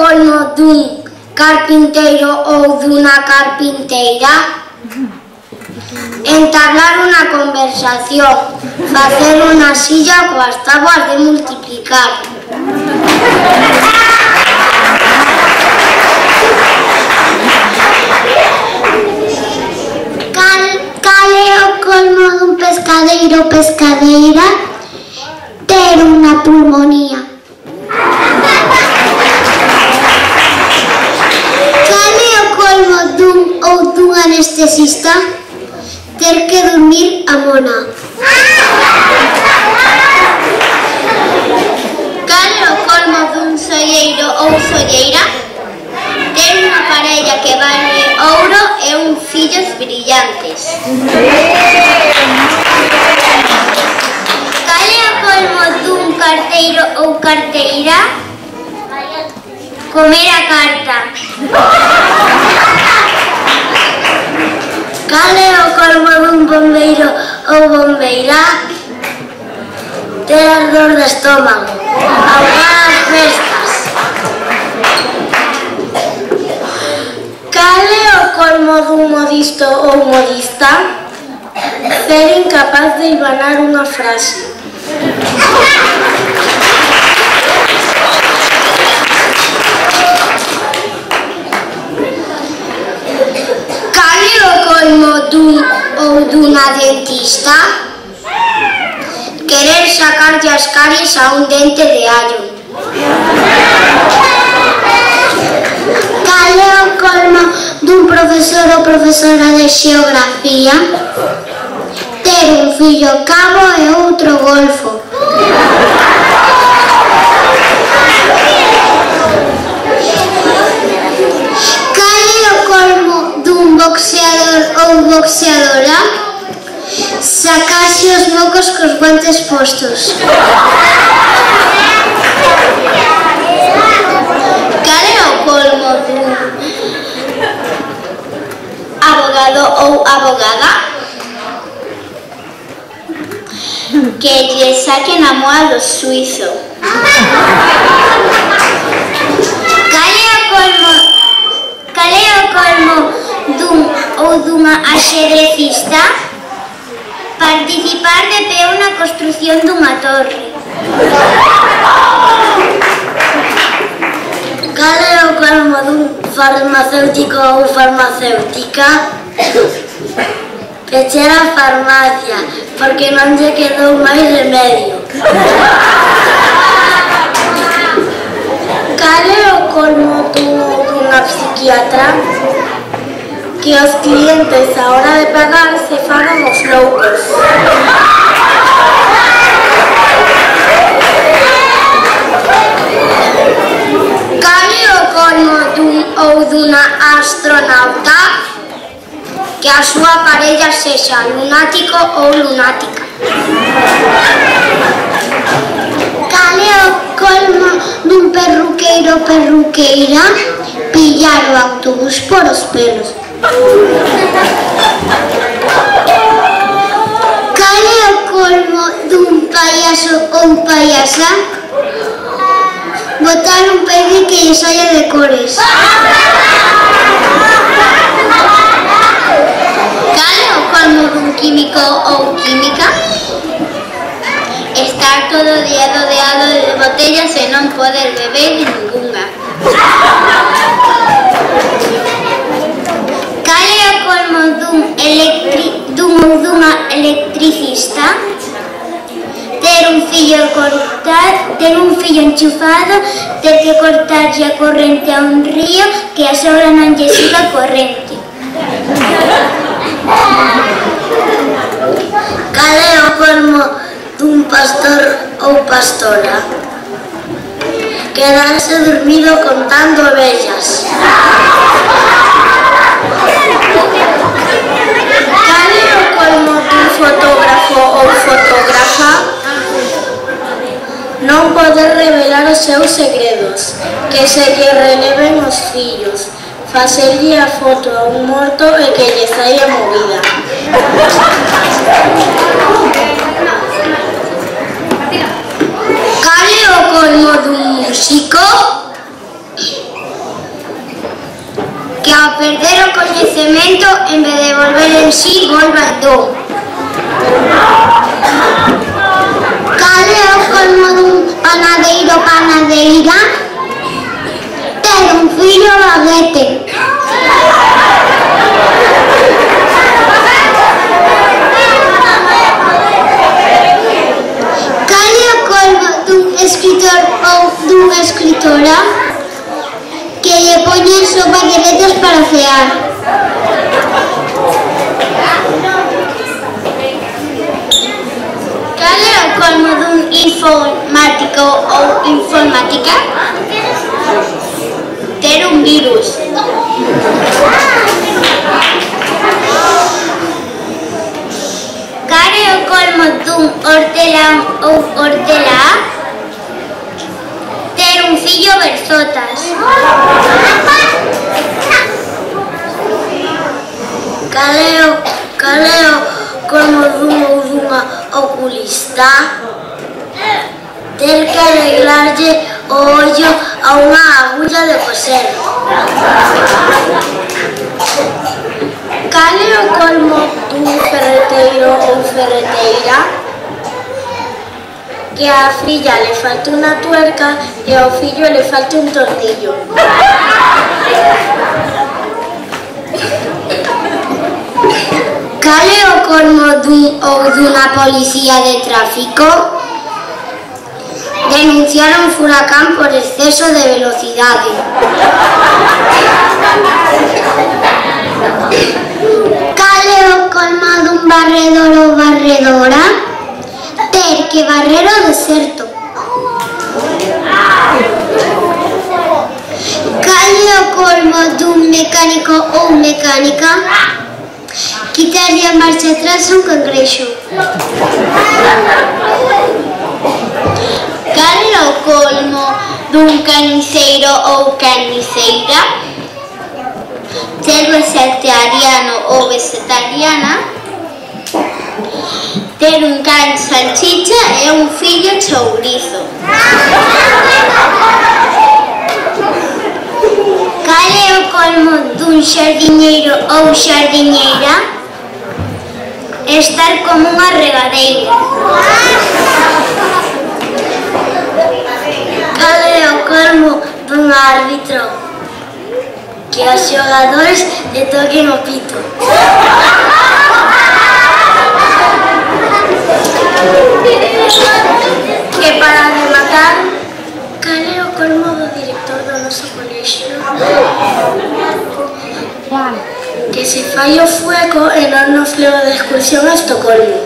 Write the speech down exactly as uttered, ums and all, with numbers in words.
colmo dun carpinteiro ou dunha carpinteira? Entablar unha conversación, facer unha silla coas táboas de multiplicar. Cal, cal é o colmo dun pescadeiro ou pescadeira? Ter unha pulmonía. Cal é o colmo dun ou dun anestesista? Ter que dormir a mona. Cal é o colmo dun solleiro ou solleira? Ter unha parella que vale ouro e un fillos brillantes. Cal é o colmo dun carteiro ou carteira? Comer a carta. Cal é o colmo dun bombeiro ou bombeira? Ter ardor de estómago. Ahogar as festas. Cal é o colmo dun modisto ou modista? Ser incapaz de hilvanar unha frase. Cal é o colmo dun ou dunha dentista? Querer sacarlle as caries a un dente de allo. Cal é o colmo dun profesor ou profesora de xeografía? Ter un fillo cabo e outro golfo. Cal é o colmo dun boxeador ou boxeadora? Sacarse os mocos cos guantes postos. Cal é o colmo dun abogado ou abogada? Que lle saquen a moa do suizo. Cal é o colmo Cal é o colmo dun ou dunha axedrecista? Participar de pé na construción dunha torre. Cal é o colmo dun farmacéutico ou farmacéutica? Pechar a farmacia, porque non lle quedou máis remedio. Cal é o colmo dunha psiquiatra? Que os clientes a hora de pagar se fagan os loucos. Cal é o colmo dun ou dunha astronauta? Que a súa parella sexa lunático ou lunática. Cal é o colmo dun perruqueiro ou perruqueira? Pillar o autobús por os pelos. Cal é o colmo dun payaso ou payasa? Botar un peine que lle saia de cores. Cal é o colmo dun químico ou química? Estar todo o día rodeado de botellas e non poder beber ningunha. Cal é o colmo dun electri... dun ou dunha electricista? Ter un fillo cortar, ter un fillo enchufado, ter que cortarlle a corrente a un río que a sogra non lle siga a corrente. Cal é o colmo dun pastor ou pastora? Quedarse dormido contando ovellas. Cal é o colmo dun fotógrafo ou fotógrafa? Non poder revelar os seus segredos, que se lle releven os fillos, facerlle a foto a un morto e que lle saia movida. Cal é o colmo dun músico? cemento en vez de volver en sí, volva en do. Cal é o colmo dun panadeiro ou panadeira? Ter un fillo baguete. Cal é o colmo dun escritor ou dunha escritora? Que lle poñen sopa de letras para cear. Cal é o colmo dun informático ou informática? Ter un virus. Cal é o colmo dun hortelán ou hortelá? Ter un fillo berzotas. Cal é o, cal é o colmo dun ou dunha oculista? Ter que arreglarlle o ollo a unha agulla de coser. Cal é o colmo dun ferreteiro ou ferreteira? Que a filla le falta unha tuerca e ao fillo le falta un tornillo. Cal é o colmo dun ou dunha policía de tráfico? Denunciar un furacán por exceso de velocidade. Cal é o colmo dun barredor ou barredora? Ter que barrer o deserto. Cal é o colmo dun mecánico ou mecánica? Quitarlle a marcha atrás a un cangrexo. Cal é o colmo dun carniceiro ou carniceira? Ser vegetariano ou vegetariana? Ter un can salchicha e un fillo chourizo. Cal é o colmo dun xardiñeiro ou xardiñeira? Estar como unha regadeira. Cal é o colmo dun árbitro? Que os xogadores lle toquen o pito. Que para rematar, cal é o colmo do director do noso colexio? Que se fai o fueco e non nos leva de excursión a Estocolmo.